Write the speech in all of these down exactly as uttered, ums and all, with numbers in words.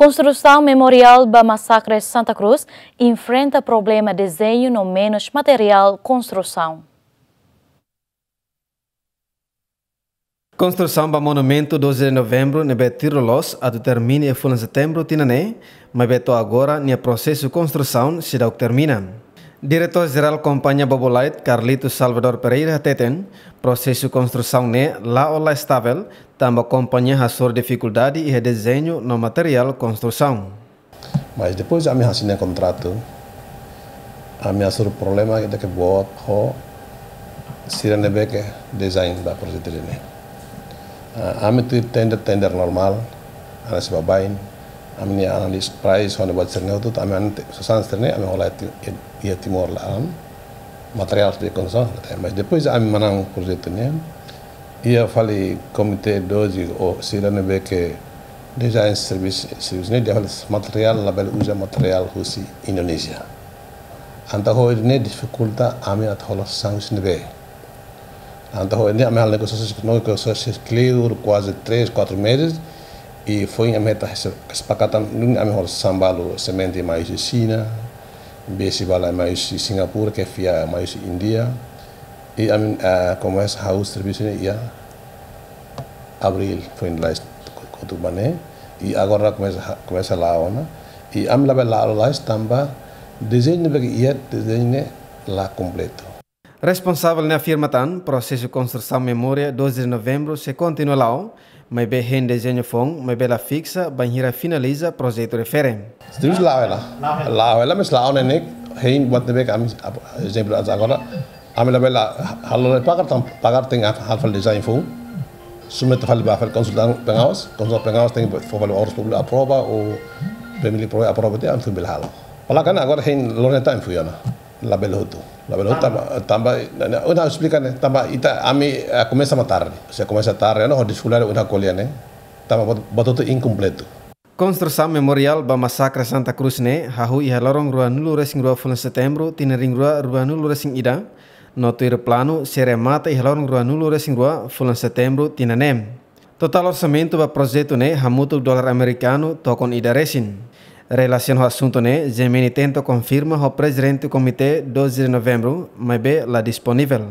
Konstrusaun memoriál ba masakre Santa Cruz enfrenta problema dezeñu no menus materiál konstrusaun. Konstrusaun ba monumentu doze de novembru ne'ebé tuir loloos atu termina iha fulan setembru tinan ne'e, maibé to'o agora nia prosesu konstrusaun seidauk termina. Diretór Jerál Kompañia Bobolait, Carlito Salvador Pereira hateten, prosesu konstrusaun ne'e la'o la estavel, tanba kompañia hasoru difikuldade iha dezeñu no materiál konstrusaun. Mas depois ami asina kontratu, ami hasoru problema ida ke boot ho sira ne'ebé ke design ba projetu ne'e. Ah, ami tuir tender, tender normál, ami sei baibain, ami-nia análise price, ho ne'ebé sira-ne'e hotu, ami ante, sasán sira-ne'e, ami hola iha Ti-, iha Timor laran, materiál de konstrusaun, mas depois ami manán projetu ne'e, iha fali komité doze ou sira ne'ebé ke design servisu, servisu ne'e dehan fali materiál labele uza materiál husi Indonézia. Entaun ho ne'e difikulta ami atu hola sasán husi ne'ebé. Entaun ho ne'e ami halo negosiasaun, negosiasaun kleur kuaze três, quatro meses, i foin ami hetan kesepakatan, nune'e ami hola sasán balu semente mai husi Xina, besi balu mai husi Singapura, ke fia mai husi Índia, i ami, eh, komesa halo servisu ne'e iha abríl, foin lalais kotuk ba ne'e, i agora komesa, komesa la'o ona, i ami labele la'o lalais tanba dezeñu ne'ebé ke iha, dezeñu ne'e la kompletu. Responsavel ne'e afirma tan, prosesu konstrusaun memoriál doze de novembru sei kontinua la'o, maibé hein dezeñu foun, maibé la fiksa bainhira finaliza projetu refere. Terus la'o hela. La'o hela, mas la'o ne'e ne'e, hein buat ne'ebé ke ami, ap-, ezemplu, agora, ami labele halo lai pagar, tan-, pagar tenke halo fali design foun. Submete fali ba fali konsultan pengawas, konsultan pengawas tenke fó fali obras públikas aprova ou PML aprova, aprova tiha ami foin bele halo. Fala kan agora hein loron ne'e ita foin ona. Labele hotu. Labele hotu tanba, tanba, ne'e, ne'e, ha'u esplika ne'e, tanba ita ami, eh, komesa mak tarde. Se komesa tarde, no, ho difikuldade ita ko'alia ne'e. Tanba buat, buat hotu inkompletu. Konstrusaun memoriál ba masakre Santa Cruz ne'e hahú iha loron ruanulu-resin-rua fulan setembru tinan rihun rua ruanulu-resin-ida, no tuir planu sei remata iha loron ruanulu-resin-rua fulan setembru tinan ne'e. Totál orsamentu ba projetu ne'e hamutuk dolar amerikanu tokon ida resin. Relasiona ho asuntu ne'e, G M N tenta konfirma ho prezidente komité doze de novembru, maibé la disponivel.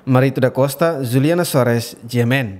Marito da Costa, Juliana Soares, G M N.